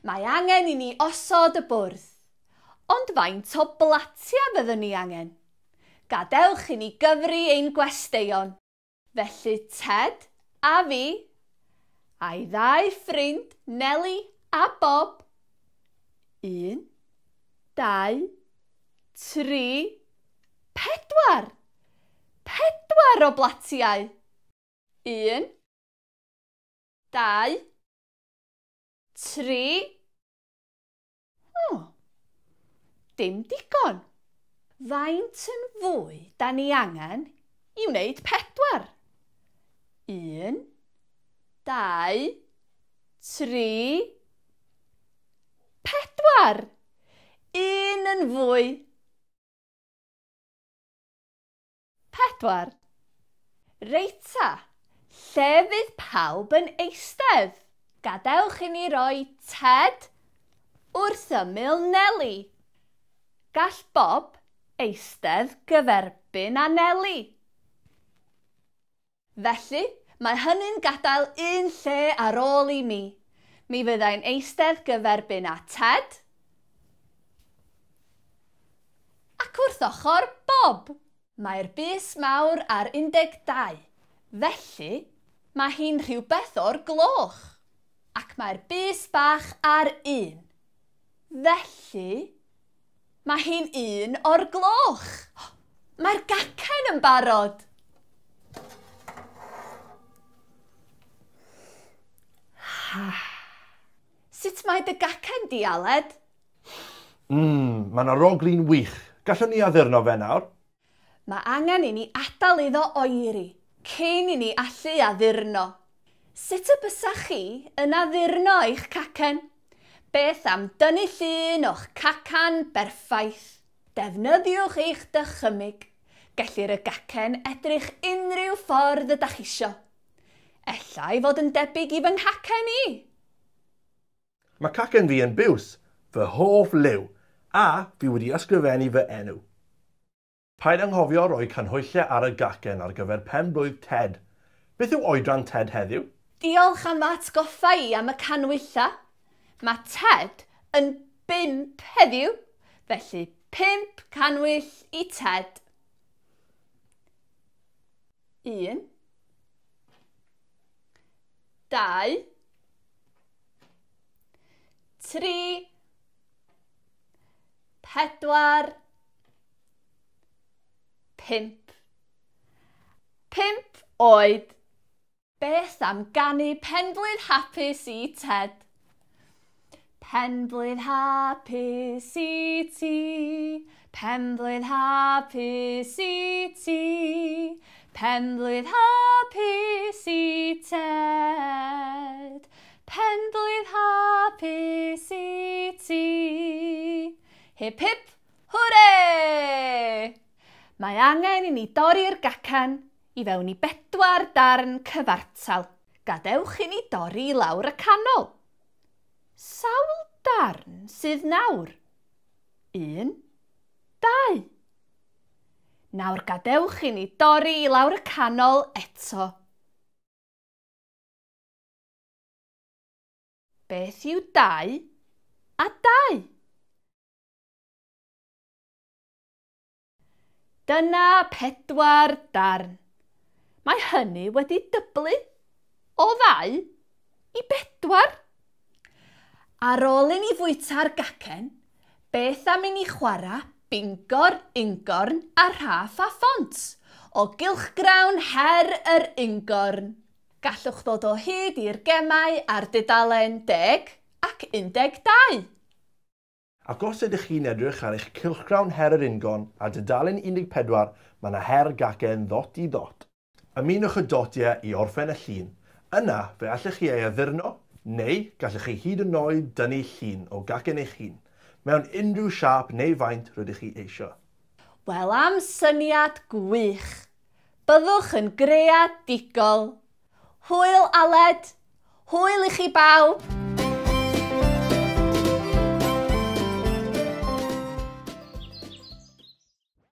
Mae angen i ni osod y bwrdd. Ond faint o blatiau fyddwn ni angen? Gadewch i ni gyfri ein gwesteion. Felly Ted a fi, a'i ddau ffrind Nelly a Bob. 1, 2, 3, 4. 4 o blatiau. 1, 2, 3. O, dim digon. Faint yn fwy da ni angen i wneud 4? 1, 2, 3, 4. 1 yn fwy. 4. Reit ta, lle fydd pawb yn eistedd? Gadewch i ni roi Ted wrth ymyl Nelly. Gall Bob eistedd gyferbyn â Nelly. Felly, mae hynny'n gadael un lle ar ôl i mi. Mi fyddai'n eistedd gyferbyn â Ted ac wrth ochr Bob. Mae'r bys mawr ar 12, felly mae hi'n rhywbeth o'r gloch. Ac mae'r bys bach ar 1, felly mae hi'n 1 o'r gloch. Mae'r gacen yn barod. Sut mae dy gacen di, Aled? Mae'n arogli'n wych. Gallwn ni addurno fe nawr? Mae angen i ni adael iddo oeri cyn i ni allu addurno. Sut y bysach chi yn addurno eich cacen? Beth am dynnu llun o'ch cacan berffaith? Defnyddiwch eich dychymyg. Gellir y gacen edrych unrhyw ffordd ydach chi isio. Ella i fod yn debyg i fy nghacen i. Mae cacen fi yn biws, fy hoff liw, a fi wedi ysgrifennu fy enw. Paid anghofio roi canhwyllau ar y gacen ar gyfer pen-blwydd Ted. Beth yw oedran Ted heddiw? Diolch am atgoffa i am y canhwyllau. Mae Ted yn 5 heddiw, felly 5 canwyll i Ted. 1, 2, 3, 4, 5. 5 oed. Beth am ganu penblwydd hapus i Ted? Penblwydd hapus i ti, penblwydd hapus i ti, penblwydd hapus i Ted, penblwydd hapus i ti. Hip hip, hwre! Mae angen i ni dorri'r gacen i fewn i 4 darn cyfartal. Gadewch i ni dorri i lawr y canol. Sawl darn sydd nawr? 1, 2. Nawr gadewch i ni dorri i lawr y canol eto. Beth yw 2 a 2? Dyna 4 darn. Mae hynny wedi dyblu o 2 i 4. Ar ôl i ni fwyta'r gacen, beth am i ni chwarae Bingor, Ungorn a Rhaff a Phont o gylchgrawn Her yr Ungorn. Gallwch ddod o hyd i'r gemau ar dudalen 10 ac 12. Ac os ydych chi'n edrych ar eich cylchgrawn Her yr Ungorn ar dudalen 14, mae yna her gacen ddot i ddot. Ymunwch y dotiau i orffen y llun. Yna, fe allech chi ei addurno, neu gallech chi hyd yn oed dynnu llun o gacen eich hun, mewn unrhyw siâp neu faint rydych chi eisiau. Wel, am syniad gwych! Byddwch yn greadigol! Hwyl Aled! Hwyl i chi bawb!